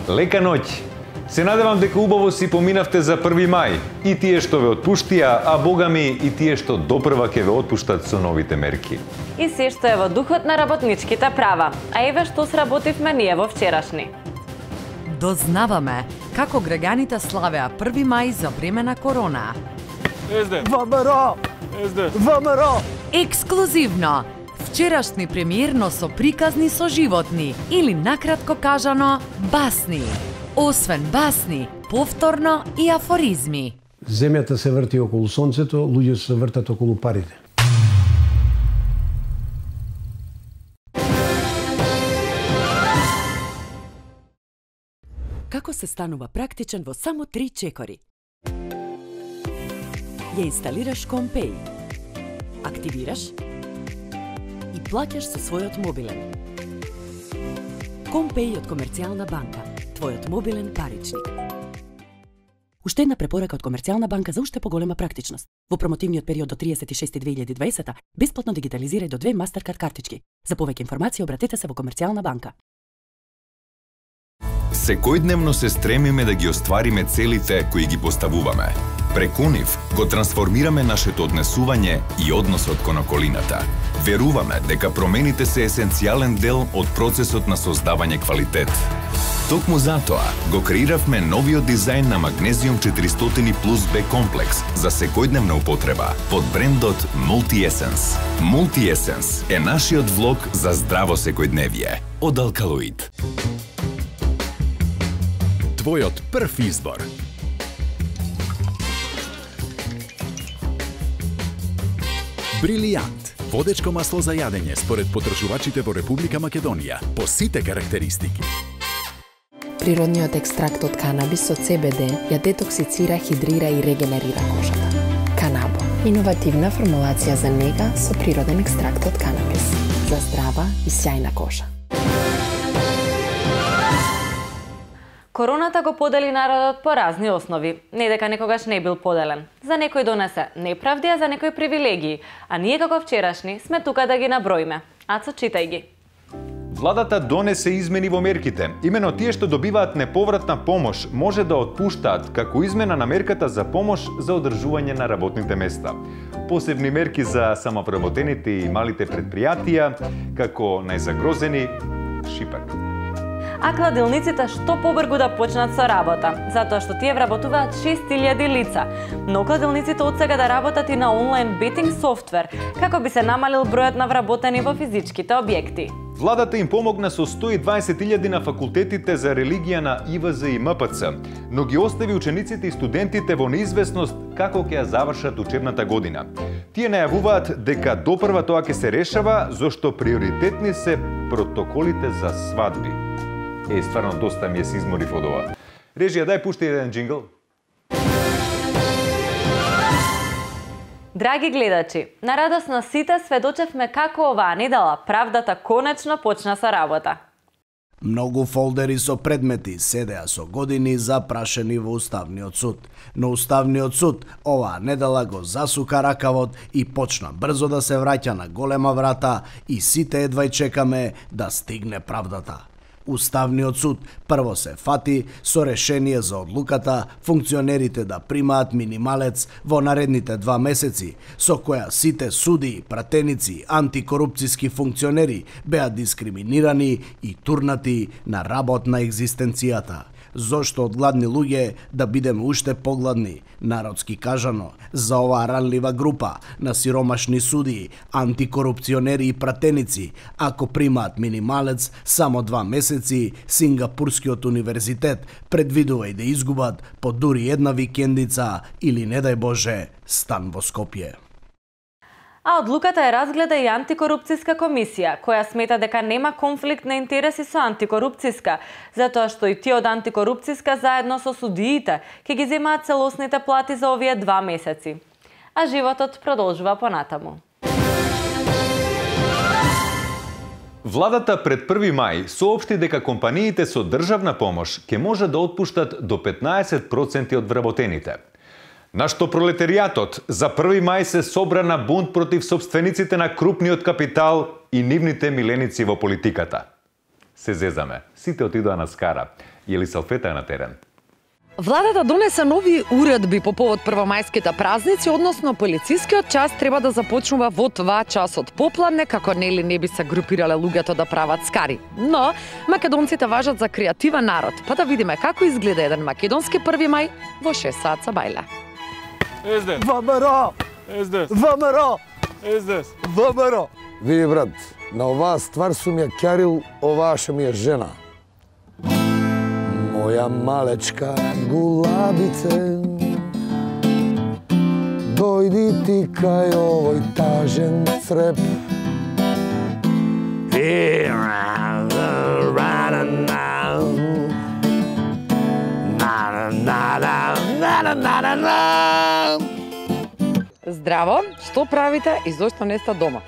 Лека ноќ! Се надевам дека убаво си поминавте за 1 мај. И тие што ве отпуштија, а богами и тие што допрва ќе ве отпуштат со новите мерки. И се што е во духот на работничките права. А еве што сработивме ние во вчерашни. Дознаваме како граѓаните славеа 1 мај за време на корона. ВМРО! ВМРО! Ексклузивно! Вчерашни премиерно со приказни со животни, или накратко кажано, басни. Освен басни, повторно и афоризми. Земјата се врти околу сонцето, луѓето се вртат околу парите. Како се станува практичен во само 3 чекори? Ја инсталираш Компеј, активираш и плаќаш со својот мобилен. Компеј од Комерцијална банка, твојот мобилен паричник. Уште една препорака од Комерцијална банка за уште поголема практичност. Во промотивниот период до 36.2020 бесплатно дигитализирај до 2 Мастеркард картички. За повеќе информации обратете се во Комерцијална банка. Секојдневно се стремиме да ги оствариме целите кои ги поставуваме. Преку нив го трансформираме нашето однесување и односот кон околината. Веруваме дека промените се есенцијален дел од процесот на создавање квалитет. Токму затоа го креиравме новиот дизајн на Magnesium 400 Plus B комплекс за секојдневна употреба под брендот Multi-Essence. Multi-Essence е нашиот влог за здраво секојдневие од Алкалоид. Твојот прв избор. Брилијант. Водечко масло за јадење според потрошувачите во Република Македонија по сите карактеристики. Природниот екстракт од канабис од CBD ја детоксицира, хидрира и регенерира кожата. Канабо. Иновативна формулација за нега со природен екстракт од канабис. За здрава и сјајна кожа. Короната го подели народот по разни основи. Не дека некогаш не бил поделен. За некој донесе неправди, а за некој привилегии. А ние како вчерашни сме тука да ги наброиме. Ацо, читај ги. Владата донесе измени во мерките. Имено тие што добиваат неповратна помош може да отпуштаат како измена на мерката за помош за одржување на работните места. Посебни мерки за самовработените и малите предпријатија, како најзагрозени шипак. А кладилниците што побргу да почнат со работа, затоа што тие вработуваат 6000 лица. Но кладилниците од сега да работат и на онлайн бетинг софтвер, како би се намалил бројот на вработени во физичките објекти. Владата им помогна со 120.000 на факултетите за религија на ИВЗ и МПЦ, но ги остави учениците и студентите во неизвестност како ќе ја завршат учебната година. Тие најавуваат дека допрва тоа ќе се решава, зашто приоритетни се протоколите за свадби. Стварно доста ми се изморив од ова. Режија, дај пушти еден джингл. Драги гледачи, на радост на сите сведочевме како оваа недела правдата конечно почна со работа. Многу фолдери со предмети седеа со години запрашени во Уставниот суд. Но Уставниот суд оваа недела го засука ракавот и почна брзо да се враќа на голема врата и сите едва чекаме да стигне правдата. Уставниот суд прво се фати со решение за одлуката функционерите да примаат минималец во наредните 2 месеци, со која сите суди, пратеници, антикорупцијски функционери беа дискриминирани и турнати на работ на екзистенцијата. Зошто од гладни луѓе да бидеме уште погладни, народски кажано, за оваа ранлива група на сиромашни судии, антикорупционери и пратеници, ако примаат минималец само 2 месеци, Сингапурскиот универзитет предвидува и да изгубат по дури една викендица или, не дај Боже, стан во Скопје. А одлуката ја разгледа и антикорупцијска комисија, која смета дека нема конфликт на интереси со антикорупцијска, затоа што и тие од антикорупцијска заедно со судиите ќе ги земаат целосните плати за овие 2 месеци. А животот продолжува понатаму. Владата пред 1 мај соопшти дека компаниите со државна помош ќе може да отпуштат до 15% од вработените. Нашто пролетаријатот за 1 мај се собра на бунт против собствениците на крупниот капитал и нивните миленици во политиката. Се зезаме, сите отидоа на скара. Јели салфета на терен. Владата донесе нови уредби по повод првомајските празници, односно полицискиот час треба да започнува во 2 часот попладне, како нели не би се групирале луѓето да прават скари. Но македонците важат за креативен народ, па да видиме како изгледа еден македонски 1 мај во 6 саат са бајле. ВМРО! ВМРО! ВМРО! Види, брат, на оваа ствар сум ја кјарил, оваа ше ми е жена. Моја малечка гулабице, дојди ти кај овој тажен цреп. Здраво, што правите и зошто не сте дома?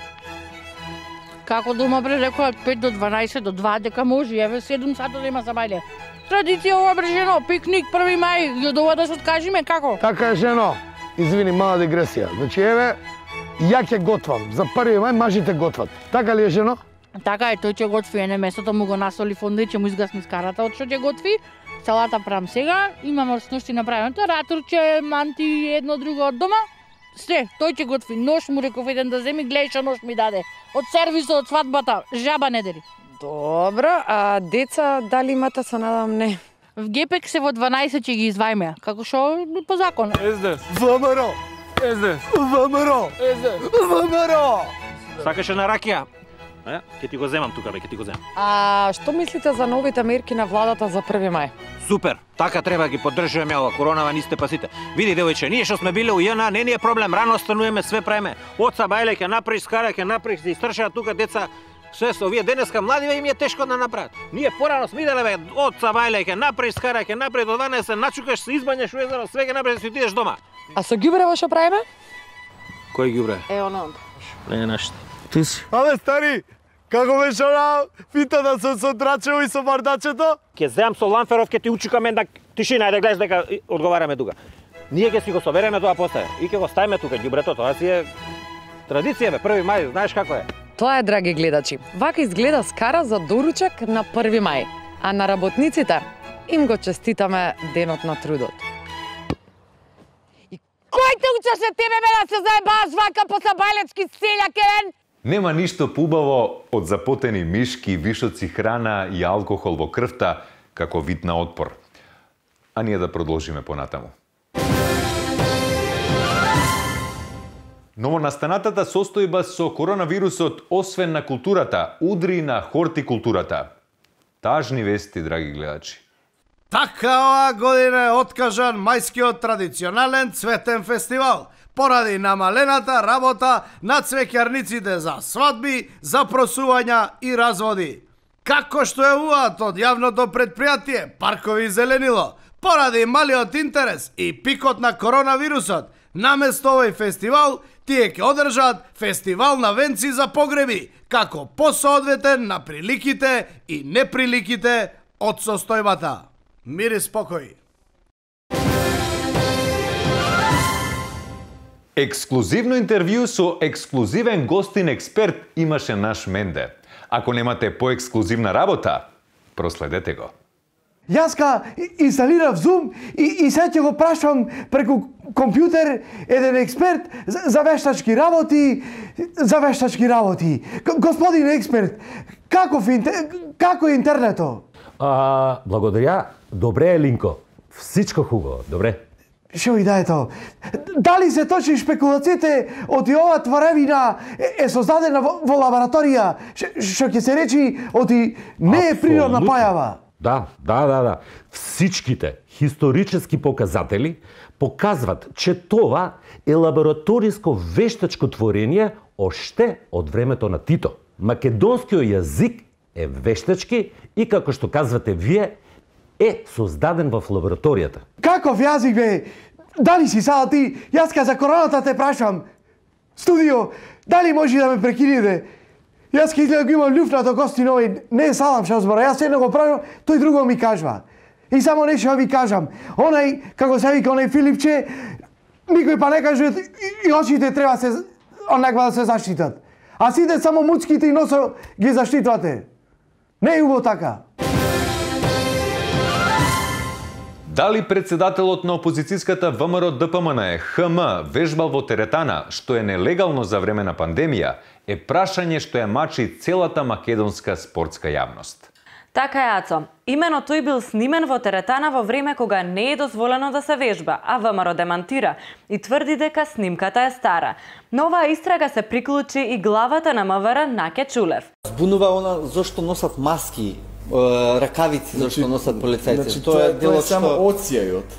Како дома бре, рекоа од 5 до 12 до 2 дека може, еве 7 сата да има забајле. Традиција ова бре, жено, пикник 1 мај, и од ова да се откажиме, како? Така е, жено. Извини, мала дигресија. Значи, еве, ја ќе готвам. За 1 мај мажите готват. Така ли е, жено? Така е, тој ќе готви, ене месото му го насоли фонде, ќе му изгасни скарата од што ќе готви. Салата правам сега, имам сношти направено, ратурче, манти, едно друго од дома. Се, тој ќе готви. Нож му реков еден да земи, гледај што нож ми даде. Од сервисот, од свадбата, жаба не дери. Добро, а деца дали имате, се надам не? В Гепек се во 12 ќе ги извајме, како што по закон. ВМРО! ВМРО! ВМРО! Сакаше на ракија? Ќе ти го земам тука, бе, ќе ти го земам. А што мислите за новите мерки на владата за 1 мај? Супер, така треба ги поддржуваме ова, коронава нисте пасите. Види, девојче, ние што сме биле у ЈНА, не ни е проблем, рано стануваме, све правиме. Оца бајле ќе направиш, скара ќе направиш, да истршаат тука деца. Све со овие денеска младиве им е тешко да направат. Ние порано сме иделе, бе, оца бајле ќе направиш, скара ќе направиш, до 12 начукаш, се избањаш у езеро, све ќе направиш, да си отидеш дома. А со ѓубрево што правиме? Кој ѓубре? Оно. Не нашите. Ти си. Абе, стари, како беше она питата со Драчево и со Бардачето? Ќе земам со Ланферов, ќе ти учукаме да тишина, да гледаш дека одговараме тука. Ние ќе си го собереме тоа после и ќе го ставиме тука ѓубрето, тоа си е традиција, бе, 1 мај, знаеш како е. Тоа е, драги гледачи. Вака изгледа скара за доручек на 1 мај, а на работниците им го честитаме денот на трудот. И кој те учеше тебе, бе, да се заебаш вака по сабајлечки селјакен? Нема ништо поубаво од запотени мишки, вишоци храна и алкохол во крвта како вид на отпор. А ние да продолжиме понатаму. Новонастанатата состојба со коронавирусот, освен на културата, удри на хортикултурата. Тажни вести, драги гледачи. Така оваа година е откажан мајскиот традиционален цветен фестивал, поради намалената работа на цвеќарниците за свадби, за просувања и разводи. Како што е уваат од јавното предпријатие Паркови зеленило, поради малиот интерес и пикот на коронавирусот, наместо овој фестивал, тие ќе одржат фестивал на венци за погреби, како посоодветен на приликите и неприликите од состојбата. Мир и спокој. Ексклузивно интервју со ексклузивен гостин експерт имаше наш Менде. Ако немате поексклузивна работа, проследете го. Јаска инсталирав Zoom и сега ќе го прашам преку компјутер еден експерт за вештачки работи. Господин експерт, како е интернето? Благодаря. Добре е, Линко. Всичко хубаво. Добре. Шо и да е тоа? Дали се точни шпекулациите оти ова тваревина е создадена во лабораторија, што ќе се речи оти не е природна појава? Да. Всичките исторически показатели показват, че това е лабораториско вештачко творение оште од времето на Тито. Македонскиот јазик е вештачки и, како што казвате вие, е создаден в лабораторијата. Каков јазик, бе? Дали си сада ти? Јаска за короната те прашам. Студио, дали може да ме прекинете? Јас ке изгледа го имам љуфна до гостин овој, не е салам што збора, јас едно го правам, тој друго ми кажва. И само нешто ви кажам, онај, како се вика, онај Филипче, никој па не каже, и очите треба се, онаква да се заштитат. А сите само муцките и носо ги заштитвате. Не е убаво така. Дали председателот на опозицијската ВМРО ДПМН ХМ вежбал во теретана, што е нелегално за време на пандемија, е прашање што ја мачи целата македонска спортска јавност. Така е, Ацо. Имено тој бил снимен во теретана во време кога не е дозволено да се вежба, а ВМРО демантира и тврди дека снимката е стара. На оваа истрага се приклучи и главата на МВР Наке Чулев. Збунува она зошто носат маски, ракавици, зашто носат полицајци. Значи, тоа е само оцјајот.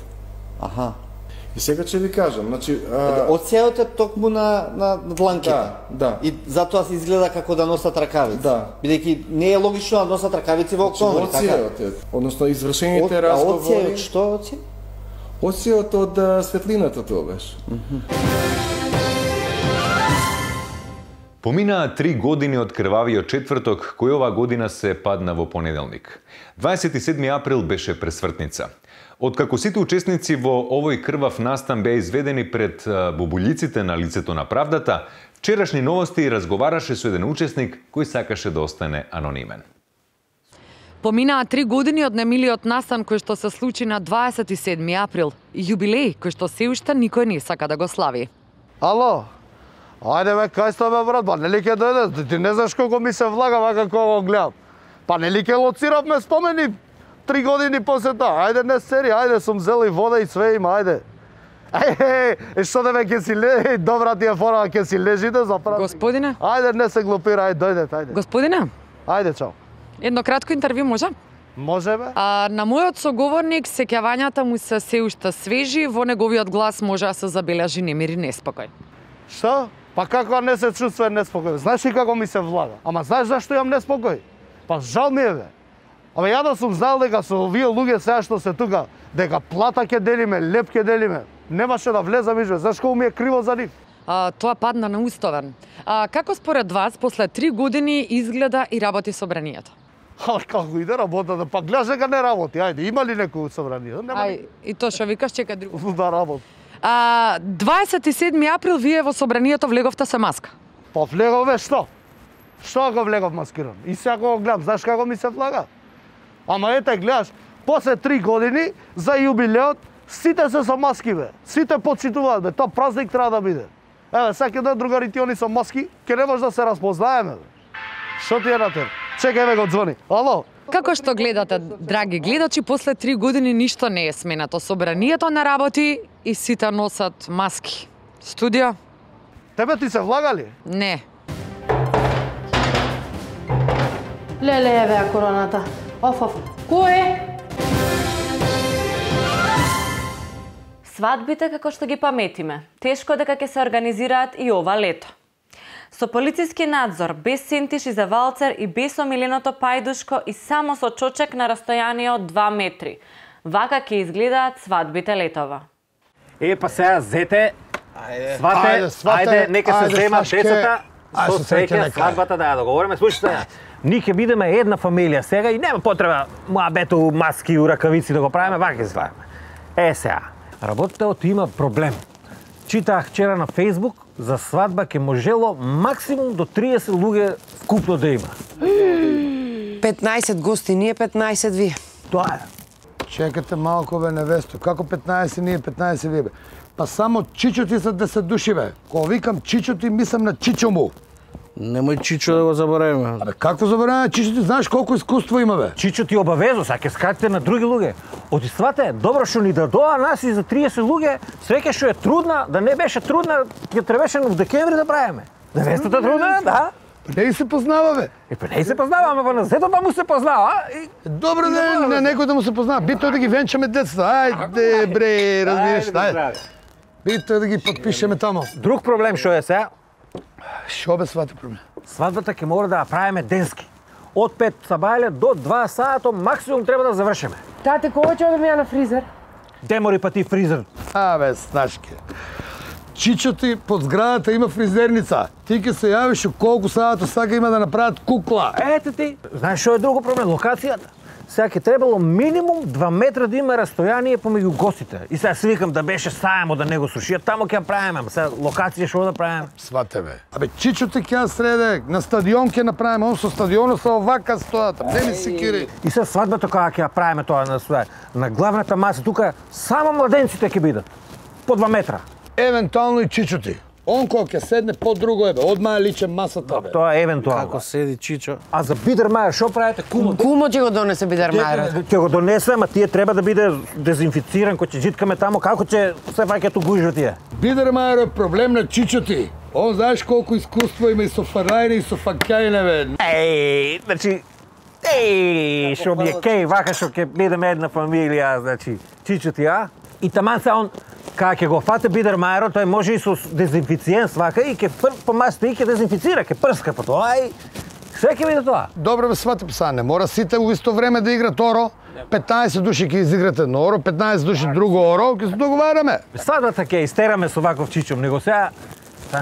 Аха. И сега ќе ви кажам, значи оцјајот е токму на дланките. Да. И затоа се изгледа како да носат ракавици. Да. Бидејќи не е логично да носат ракавици во октомври, така? Оцјајот е, односно извршените разговори. Оцјајот што оцјај? Оцјајот од светлината тоа беше. Поминаа 3 години од крвавиот четврток, кој оваа година се падна во понеделник. 27 април беше пресвртница. Откако сите учесници во овој крвав настан беа изведени пред бубулиците на лицето на правдата, вчерашни новости разговараше со еден учесник кој сакаше да остане анонимен. Поминаа 3 години од немилиот настан кој што се случи на 27 април, јубилеј кој што се уште никој не сака да го слави. Ало, ајде бе, кај сте бе, брат, па нели ќе дојде? Ти не знаеш колко ми се влага вака кога го гледам. Па нели ќе лоциравме спомени 3 години после тоа. Ајде не сери, ајде сум зел и вода и све има, ајде. Што да ме ќе си лежи, добра ти е фора, ќе си лежите за прав. Господине? Ајде не се глупира, ајде дојдете, ајде. Господине? Ајде, чао. Едно кратко интервју може? Може бе. На мојот соговорник сеќавањата му се уште свежи, во неговиот глас може да се забележи немир и неспокој. Што? Па како не се чувствува неспокој? Знаеш ли како ми се влага? Ама знаеш зашто имам неспокој? Па жал ми е бе. Абе ја да сум знал дека со овие луѓе сега што се тука, дека плата ќе делиме, леп ќе делиме, немаше да влезам изме. Знаеш колку ми е криво за нив? Тоа падна на уставен. Како според вас после 3 години изгледа и работи собранието? Како иде работата? Па гледаш дека не работи. Ајде, има ли некој собрание? И тоа што викаш, чека друго. Да работи. 27 април вие во собранието влеговте се маска. Па влегове што? Што ако влегов маскиран? И сега го гледам, знаеш како ми се влага? Ама ете, гледаш, после 3 години за јубилеот сите се со маски бе. Сите почитуваат бе, тоа празник треба да биде. Еве, сега да другарите они со маски, ќе не може да се разпознаеме бе. Што ти е на тебе? Чекај ме го звони. Ало? Како што гледате, драги гледачи, после 3 години ништо не е сменато. Собранието не работи и сите носат маски. Студио? Тебе ти се влагали? Не. Леле, еве короната. Оф. Кој е? Свадбите како што ги паметиме, тешко дека ќе се организираат и ова лето. Со полициски надзор, без сентиш и за валцер и без омиленото пајдушко и само со чочек на растојание од 2 метри. Вака ќе изгледаат свадбите летова. Па сега зете, свате, нека се земат децата, со среќа свадбата да ја договориме. Слушайте, ние ќе бидеме една фамилија сега и нема потреба муабето, маски и ракавици да го правиме, вака ќе свадиме. Сега, работелот има проблем. Читах вчера на Фейсбук, за свадба ќе можело максимум до 30 луѓе вкупно да има. 15 гости, ние 15 вие. Тоа е. Чекате малко бе, невесто. Како 15 ние, 15 вие бе? Па само чичоти са 10 души бе. Кога викам чичоти, мислам на чичо му. Немој Чичо да го заборавиме. Абе, како заборавиме Чичо? Ти знаеш колку искуство има бе? Чичо ти обавезо, сега ќе скатите на други луѓе. Оти свате, добро што ни дадоа нас и за 30 луѓе, свеќе што е трудна, да не беше трудна, ќе требаше в декември да правиме. Невестата трудна, да? Па не се познава бе. Па не се познава, ама на зето па му се познава. Добро да на некој да му се познава. Битно да ги венчаме децата. Ајде бре, разбираш, ајде. Битно да ги подпишеме тамо. Друг проблем што е сега? Што бе свата проблем? Свадбата ќе мора да ја правиме денски. Од 5 сабајле до 2 сато максимум треба да завршиме. Тате, кога ќе одам ја на фризер? Демори па ти фризер. Абе, Снашке. Чичо ти под зградата има фризерница. Ти ќе се јавиш колку сато сака има да направат кукла. Ете ти. Знаеш што е друго проблем? Локацијата. сега ќе требало минимум 2 метра да има растојание помеѓу гостите. И сега си викам да беше саемо да не го срушиат, таму ќе правиме. Сега локација што да правиме? Свате бе. Абе Чичото ќе среде, на стадион ќе направиме, он со стадионот со овака стојат. Не ми се кири. И сега свадбата кога ќе правиме тоа на главната маса тука само младенците ќе бидат. По 2 метра. Евентуално и Чичоти. Он кога ќе седне по друго бе, одма личе масата бе. Тоа е евентуално. Како седи Чичо? А за Бидермајер што правите? Кумо ќе го донесе Бидермајерот. Ќе го донесе, ама тие треба да биде дезинфициран, кој ќе житкаме таму, како ќе се фаќаат угужва тие? Бидермајер е проблем на Чичоти. Он знаеш колку искуство има и со Фарајне и со Факајне бе. Еј, значи што ми е кеј, вака што ќе бидеме една фамилија, значи Чичоти, а? И таман се он кога ќе го фате Бидермајерот, тој може и со дезинфициент свака и ќе по масата и ќе дезинфицира, ќе прска по тоа и се ќе биде тоа. Добро бе свати пса, не мора сите во исто време да играат оро. 15 души ќе изиграте едно оро, 15 души друго оро, ќе се договараме. Свадбата ќе истераме со ваков чичом, него сега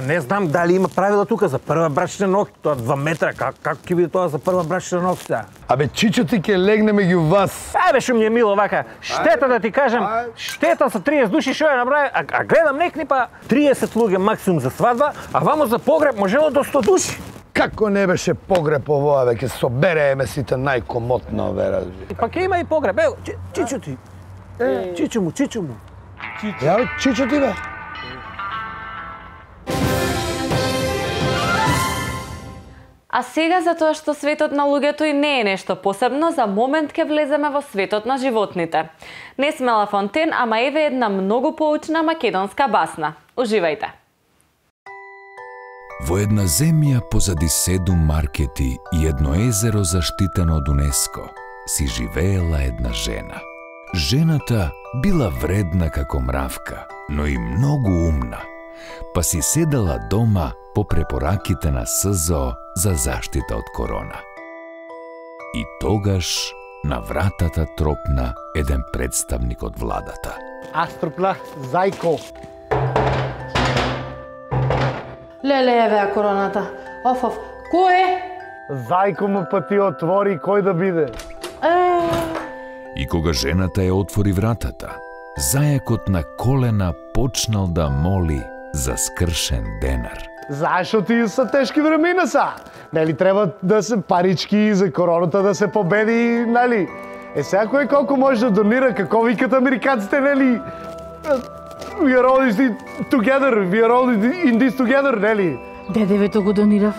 не знам дали има правила тука за прва брачна ног, тоа 2 метра, како ќе биде тоа за прва брачна ног сега? Абе Чичоти ќе легне меѓу вас. Ајде што ми е мило вака. Штета да ти кажам, штета со 30 души што ја направи, а гледам некни па 30 луѓе максимум за свадба, а вамо за погреб можело до 100 души. Како не беше погреб овоа веќе соберееме сите најкомотно вера. Па ќе има и погреб. Ево, Чичоти. Чичо му. Ја Чичоти бе. А сега, за тоа што светот на луѓето и не е нешто посебно, за момент ќе влеземе во светот на животните. Не сме Ла Фонтен, ама еве една многу поучна македонска басна. Уживајте! Во една земја позади 7 маркети и едно езеро заштитено од УНЕСКО си живеела една жена. Жената била вредна како мравка, но и многу умна, па си седала дома по препораките на СЗО за заштита од корона. И тогаш на вратата тропна еден представник од владата. Аз тропнах Зајко. Леле, еве короната. Оф, кој е? Зајко му па ти отвори, кој да биде? И кога жената ја отвори вратата, зајакот на колена почнал да моли за скршен денар. Зашо ти са тешки времена са? Нели треба да се парички за короната да се победи, нели? Сега кој колку може да донира, како викат американците, нели? We are all together, we are all in this together, нели? Дедевето го донирав.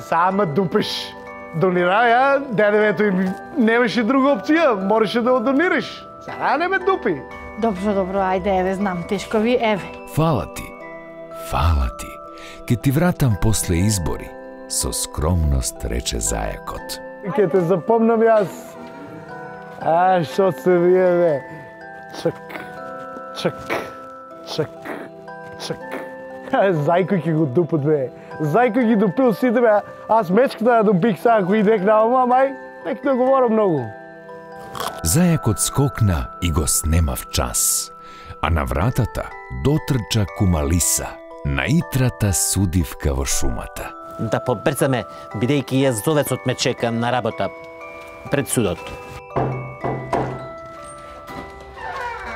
Сама дупеш. Донирав ја, дедевето им немаше друга опција, можеше да го донираш. Сега не ме дупи. Добро, ајде, еве, знам, тешко ви, еве. Фала ти. Ке ти вратам после избори, со скромност рече зајакот. Ке те запомнам јас. Што се вие, бе? Чак. Зајко ќе го дупат, бе. Зајко ги дупил сите, бе. Аз мечката да дупих сега, ако идех на ома, мај, нек да говорам многу. Зајакот скокна и го снемав час, а на вратата дотрча Кумалиса, наитрата судивка во шумата. Да побрзаме, бидејќи јазовецот ме чека на работа пред судот.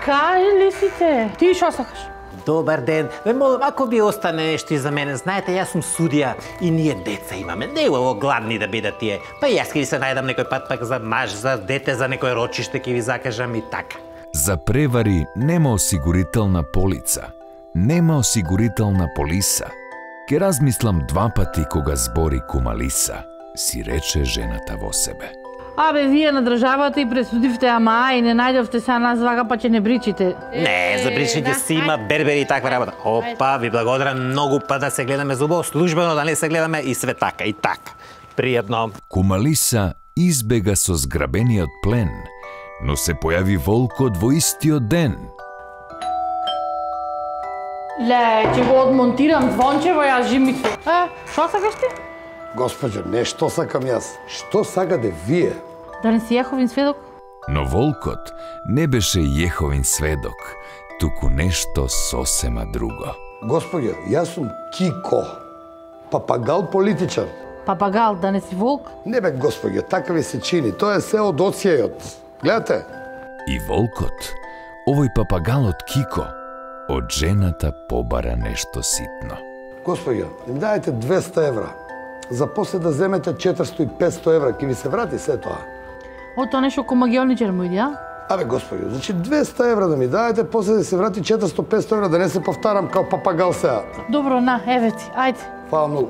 Кажи ли сите? Ти шо сакаш? Добар ден. Ве молам, ако би остане нешто и за мене, знаете, јас сум судија и ние деца имаме. Не е ово гладни да бидат тие. Па јас ќе ви се најдам некој пат пак за маж, за дете, за некој рочиште ќе ви закажам и така. За превари нема осигурителна полица, нема осигурителна полиса. Ке размислам 2 пати кога збори Кумалиса, си рече жената во себе. Абе, вие на државата и пресудивте, ама и не најдовте са нас вака, па ќе не бричите. Не, за бричење си има бербери и таква работа. Опа, ви благодарам многу, па да се гледаме зубово, службено да не се гледаме и све така, и така. Пријатно. Кумалиса избега со зграбениот плен, но се појави волкот во истиот ден. Ле, ќе го одмонтирам звончево, јас жимицу. Шо сакаш ти? Госпоđo, не што сакам јас, што сакате вие? Да не си Јеховин сведок? Но волкот не беше Јеховин сведок, туку нешто сосема друго. Господјо, јас сум Кико, папагал политичар. Папагал, да не си волк? Не бе, господја, така ви се чини. Тоа е се од оцјајот. Гледате? И волкот, овој папагалот Кико, од жената побара нешто ситно. Господја, им дајте 200 евра. За после да земете 400 и 500 евра, ќе ви се врати се тоа. Тоа нешто ко магионичар му иде, а? Абе, господјо, значи 200 евра да ми дајте, после да се врати 400-500 евра, да не се повтарам као папагал сега. Добро, на, еве ти, ајде. Фала многу.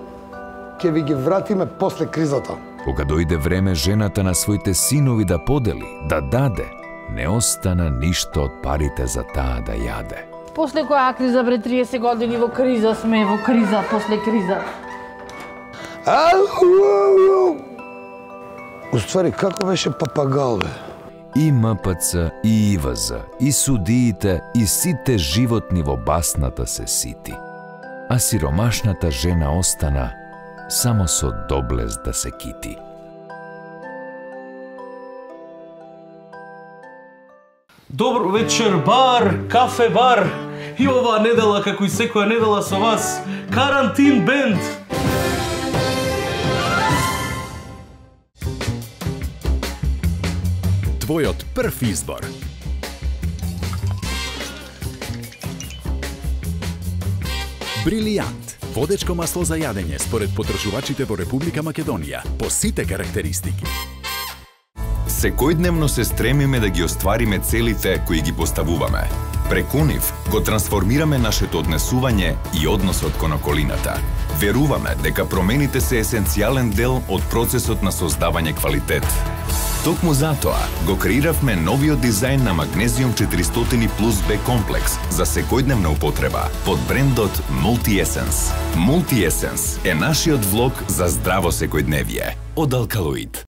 Ке ви ги вратиме после кризата. Кога дојде време жената на своите синови да подели, да даде, не остана ништо од парите за таа да јаде. После која криза, бре, 30 години во криза сме, во криза, после криза. Уствари, како беше папагал, бе? И МПЦ, и ИВЗ, и судиите, и сите животни во басната се сити. А сиромашната жена остана само со доблес да се кити. Добро вечер, бар, кафе бар. И оваа недела, како и секоја недела со вас, Карантин бенд. Твојот прв избор. Брилијант. Водечко масло за јадење според потрошувачите во Република Македонија. По сите карактеристики. Секојдневно се стремиме да ги оствариме целите кои ги поставуваме. Преку нив го трансформираме нашето однесување и односот кон околината. Веруваме дека промените се есенцијален дел од процесот на создавање квалитет. Токму затоа го креиравме новиот дизајн на Магнезиум 400 плюс Б комплекс за секојдневна употреба под брендот Multi-Essence. Multi-Essence е нашиот влог за здраво секојдневие од Алкалоид.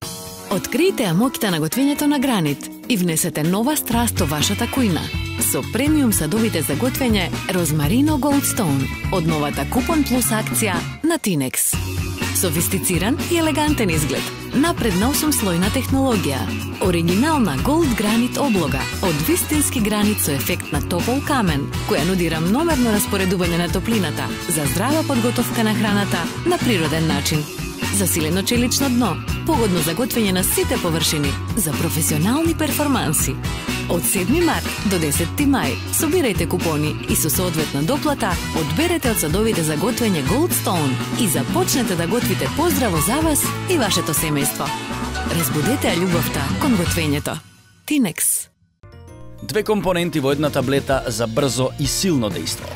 Откријте амоките на готвењето на Гранит и внесете нова страст во вашата кујна. Со премиум садовите за готвење Розмарино Goldstone од новата Купон Плюс акција на Тинекс. Софистициран и елегантен изглед, напредна 8-слојна технологија, оригинална Gold Granit облога од вистински гранит со ефект на топол камен, која нуди рамномерно распоредување на топлината за здрава подготовка на храната на природен начин. Засилено челично дно, погодно за готвење на сите површини, за професионални перформанси. Од 7 март до 10 мај собирајте купони и со соодветна доплата одберете од садовите за готвење Goldstone и започнете да готвите поздраво за вас и вашето семејство. Разбудете ја љубовта кон готвењето. Тинекс. 2 компоненти во една таблета за брзо и силно дејство.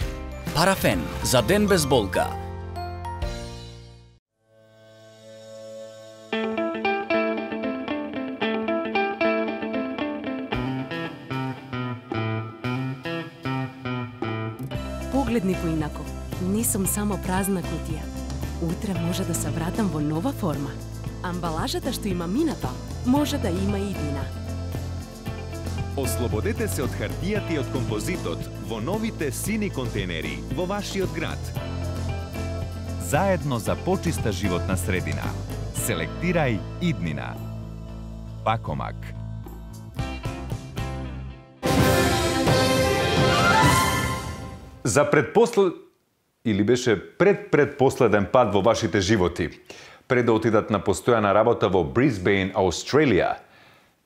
Парафен за ден без болка. Погледни поинако. Не сум само празна кутија. Утре може да се вратам во нова форма. Амбалажата што има минато, може да има и иднина. Ослободете се од хартијата и од композитот во новите сини контейнери во вашиот град. Заедно за почиста животна средина. Селектирај иднина. Пакомак. За или беше предпоследен пат во вашите животи, пред да отидат на постојана работа во Брисбејн, Аустралија.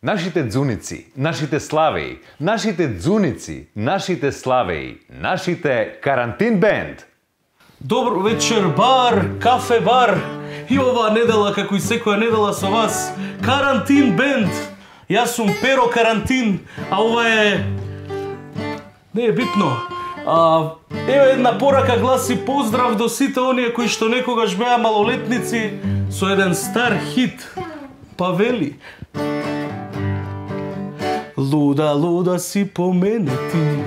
Нашите дзуници, нашите славеи, нашите дзуници, нашите славеи, нашите Карантин бенд. Добро вечер, бар, кафе бар. И оваа недела, како и секоја недела со вас, Карантин бенд. Јас сум Перо Карантин, а ова е... Не е битно. Еве една порака гласи поздрав до сите оние кои што некогаш беа малолетници со еден стар хит. Па вели: луда, луда си по мене ти,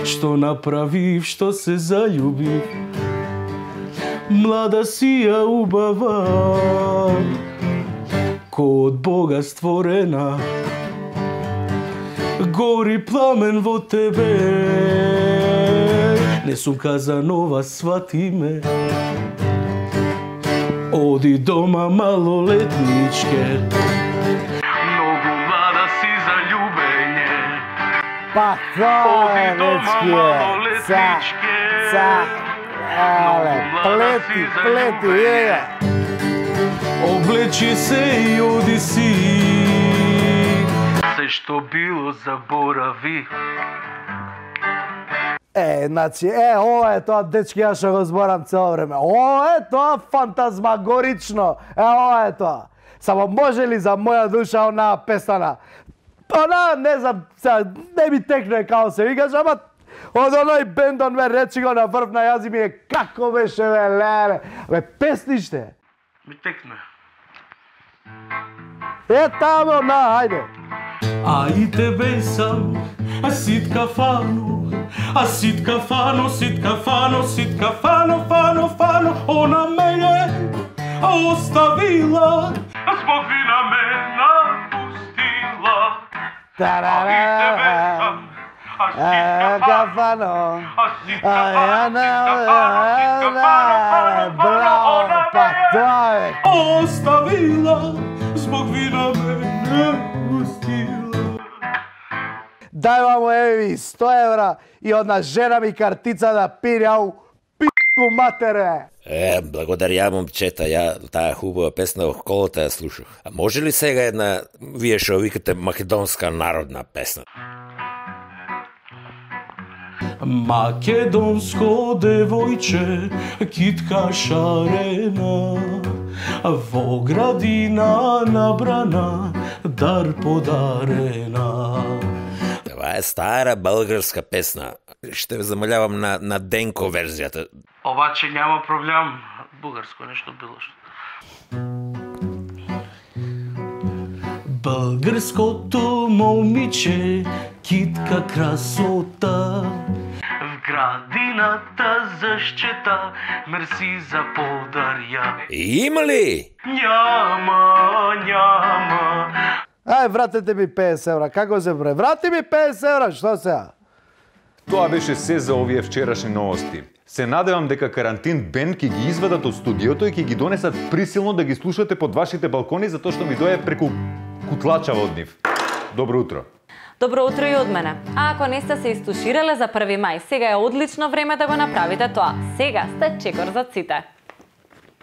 што направив, што се заљубив. Млада си ја убава, ко од Бога створена. Гори пламен во тебе, не сум Казанова, свати ме. Оди дома малолетничке, многу млада си за љубење. Па тоа е, дечки, плети, ега. облечи се и оди си. Се што било заборави. Значи, ова е тоа, дечки, ја што го зборам цело време. Ова е тоа фантазмагорично. Ова е тоа. Само може ли за моја душа онаа песана? Она, не знам, не ми текне као се викаш, ама од оној бендон ме речи го на врв на јази ми е како беше, бе, леле. Бе, песниште. Ми текне. Тамо, на, ајде. А и тебе сам, сит кафано, сит кафано, сит кафано, сит кафано, фано, фано, она ме е оставила, због вина ме напустила. А и тебе сам, сит кафано, сит кафано, она ме е оставила, због вина ме напустила. Дај мамо, еви, 100 евра и одна жена ми картица да пире, ау, пи***ку матере. Благодарја, момчета, ја таа хубава песна во колата ја слушах. А може ли сега една, вие што викате, македонска народна песна? Македонско девојче, китка шарена, во градина набрана, дар подарена. Това е стара българска песна. Ще ве замолявам на Денко верзијата. Обаче няма проблем. Бугарско нешто било што. Българското момиче, китка красота, в градината защита, мерси за подарја. Има ли? Няма. Ај, вратете ми 50 евра, како се бре? Врати ми 50 евра, што сега? Тоа беше се за овие вчерашни новости. Се надевам дека Карантин Бенд ќе ги извадат од студиото и ќе ги донесат присилно да ги слушате под вашите балкони, затоа што ми дое преку кутлачава од нив. Добро утро. Добро утро и од мене. А ако не сте се истуширале за 1 мај, сега е одлично време да го направите тоа. Сега сте чекор за сите.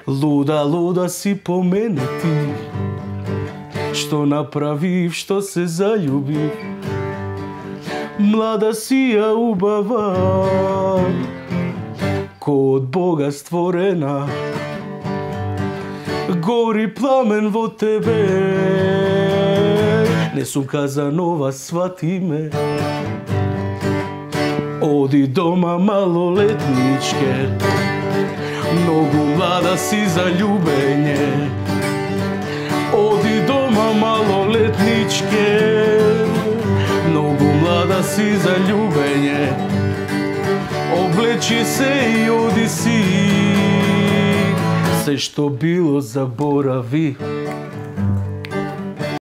Луда, луда си по мене ти, што направив, што се заљубив. Млада си ја убава, ко од Бога створена. Гори пламен во тебе, не сум Казанова, свати ме. Оди дома малолетничке, многу млада си за љубење. Оди дома малолетничке, многу млада си за љубење. Облечи се и оди си, се што било заборави.